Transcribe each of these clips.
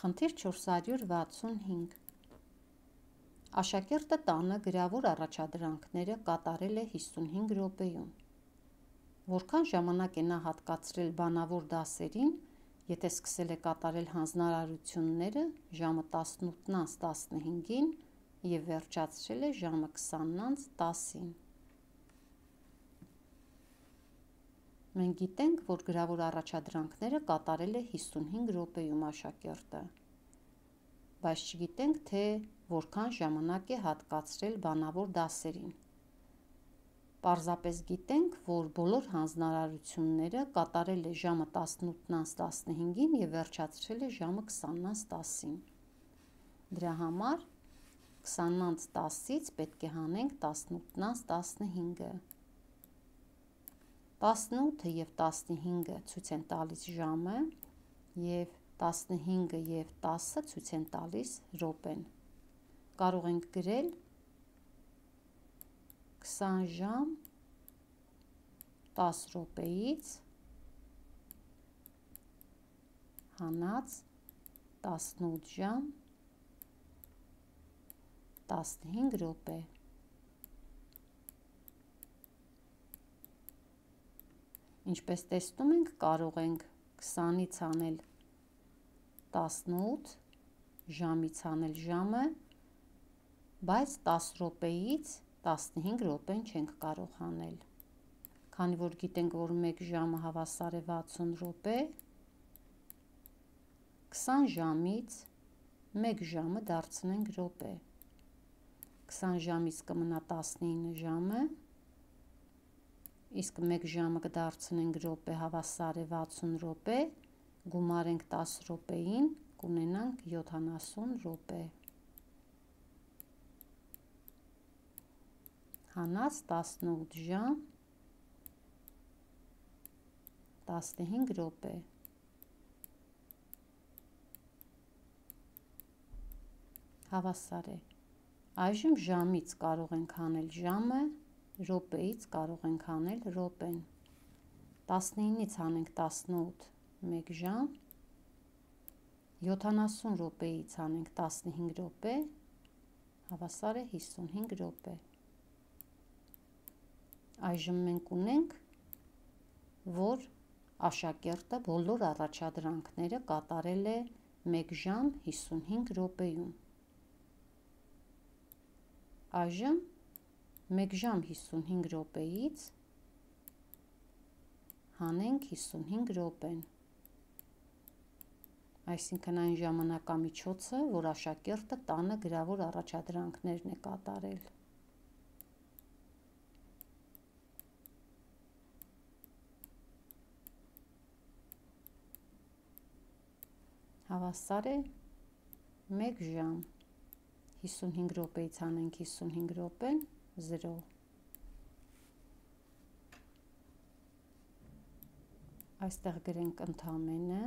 Խնդիր 465 Աշակերտը տանը գրավոր առաջադրանքները կատարել է 55 րոպեում։ Որքան ժամանակ է նա հատկացրել բանավոր դասերին, եթե սկսել է կատարել հանձնարարությունները ժամը 18:15-ին և վերջացրել է ժամը 20:10-ին։ Մենք գիտենք, որ գրավոր առաջադրանքները կատարել է 55 րոպեում աշակերտը, բայց չգիտենք, թե որքան ժամանակ է հատկացրել բանավոր դասերին։ Պարզապես գիտենք, որ բոլոր հանձնարարությունները կատարել է ժամը 18:15-ին և վերջացրել է ժամը 20:10-ին։ Դրա համար 20:10-ից պետք է հանենք 18:15-ը։ 18-ը և 15-ը ցույց են տալիս ժամը, և 15-ը և 10-ը ցույց են տալիս րոպեն։ Կարող ենք գրել 20 ժամ 10 րոպեից հանած 18 ժամ 15 րոպե։ Ինչպես տեսնում ենք, կարող ենք 20-ից անել 18, ժամից անել ժամը, բայց 10 րոպեից 15 րոպեն չենք կարող անել։ Քանի որ գիտենք, որ 1 ժամը հավասար է 60 րոպե, 20 ժամից 1 ժամը դարձնենք րոպե։ 20 ժամից կմնա 19 ժամը, իսկ 1 ժամը կդարձնենք րոպե, հավասար է 60 րոպե, գումարենք 10 րոպեին, կունենանք 70 րոպե։ Հանած 18 ժամ 15 րոպե։ Հավասար է։ Այժմ ժամից կարող ենք հանել ժամը, րոպեից կարող ենք հանել րոպեն։ 19-ից հանենք 18, 1 ժամ, 70 րոպեից հանենք 15 րոպե, հավասար է 55 րոպե։ Այժմ մենք ունենք, որ աշակերտը բոլոր առաջադրանքները կատարել է 1 ժամ 55 րոպեում։ Այժմ 1 ժամ 55 րոպեից հանենք 55 րոպեն, այսինքն այն ժամանակամիջոցը, որ աշակերտը տանը գրավոր առաջադրանքներն է կատարել։ Հավասար է 1 ժամ 55 րոպեից հանենք 55 րոպեն, 0։ Այստեղ գրենք ընդամենը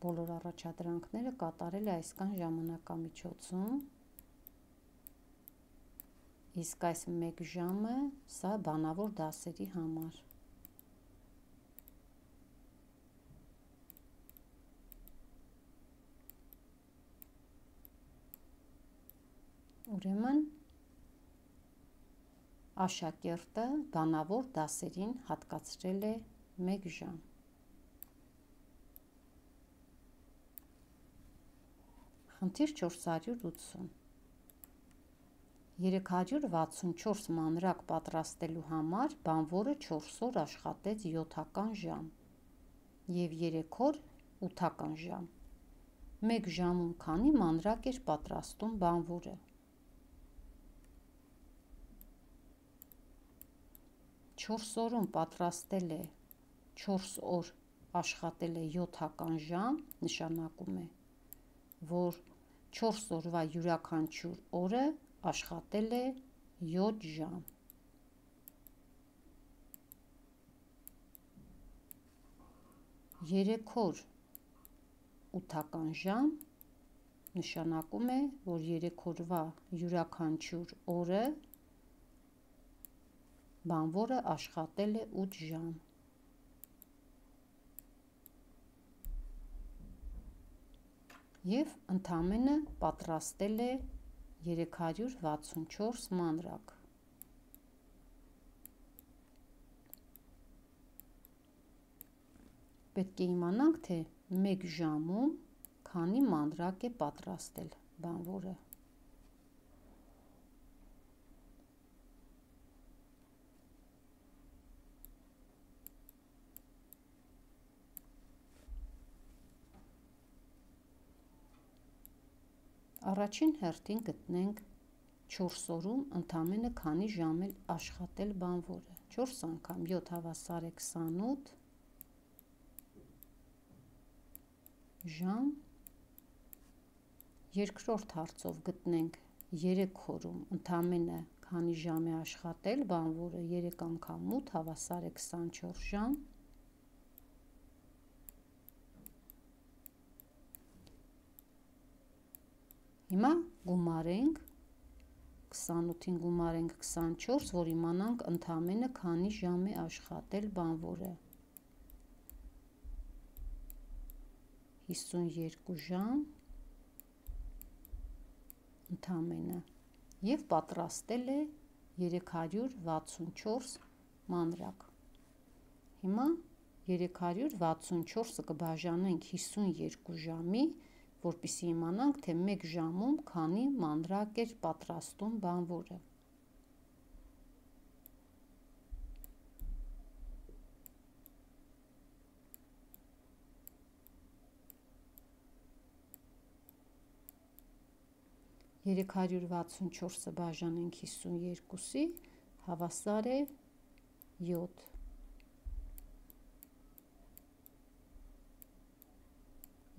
բոլոր առաջադրանքները կատարել է այսքան ժամանակամիջոցում, իսկ այս 1 ժամը սա բանավոր դասերի համար։ Ուրեմն աշակերտը բանավոր դասերին հատկացրել է 1 ժամ։ Խնդիր 480 364 մանրակ պատրաստելու համար բանվորը 4 օր աշխատեց 7 ժամ և 3 օր 8 ժամ։ 1 ժամում քանի մանրակ էր պատրաստում բանվորը։ 4 օրում պատրաստել է 4 օր աշխատել է 7 ժամ, նշանակում է, որ 4 օրվա յուրաքանչյուր օրը աշխատել է 7 ժամ։ 3 օր 8 ժամ, նշանակում է, որ 3 օրվա յուրաքանչյուր օրը բանվորը աշխատել է 8 ժամ։ և ընդամենը պատրաստել է 364 մանրակ։ Պետք է իմանանք, թե 1 ժամում քանի մանրակ է պատրաստել բանվորը։ Առաջին հերթին գտնենք 4 օրում ընդամենը քանի ժամ է աշխատել բանվորը։ 4 անգամ 7 հավասար է 28 ժամ։ Երկրորդ հարցով գտնենք 3 օրում ընդամենը քանի ժամ է աշխատել բանվորը։ 3 անգամ 8 հավասար է 24 ժամ։ Հիմա գումարենք 28-ին գումարենք 24, որ իմանանք ընդամենը քանի ժամ է աշխատել բանվորը։ 52 ժամ ընդամենը և պատրաստել է 364 մանրակ։ Հիմա 364-ը կբաժանենք 52 ժամի, որպեսզի իմանանք, թե 1 ժամում քանի մանրակ էր պատրաստում բանվորը։ Երեք 364-ը բաժանենք 52-ի, հավասար է 7։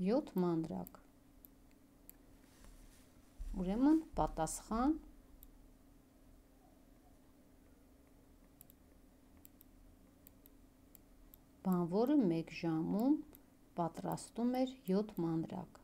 7 մանրակ։ Ուրեմն պատասխան բանվորը 1 ժամում պատրաստում էր 7 մանրակ։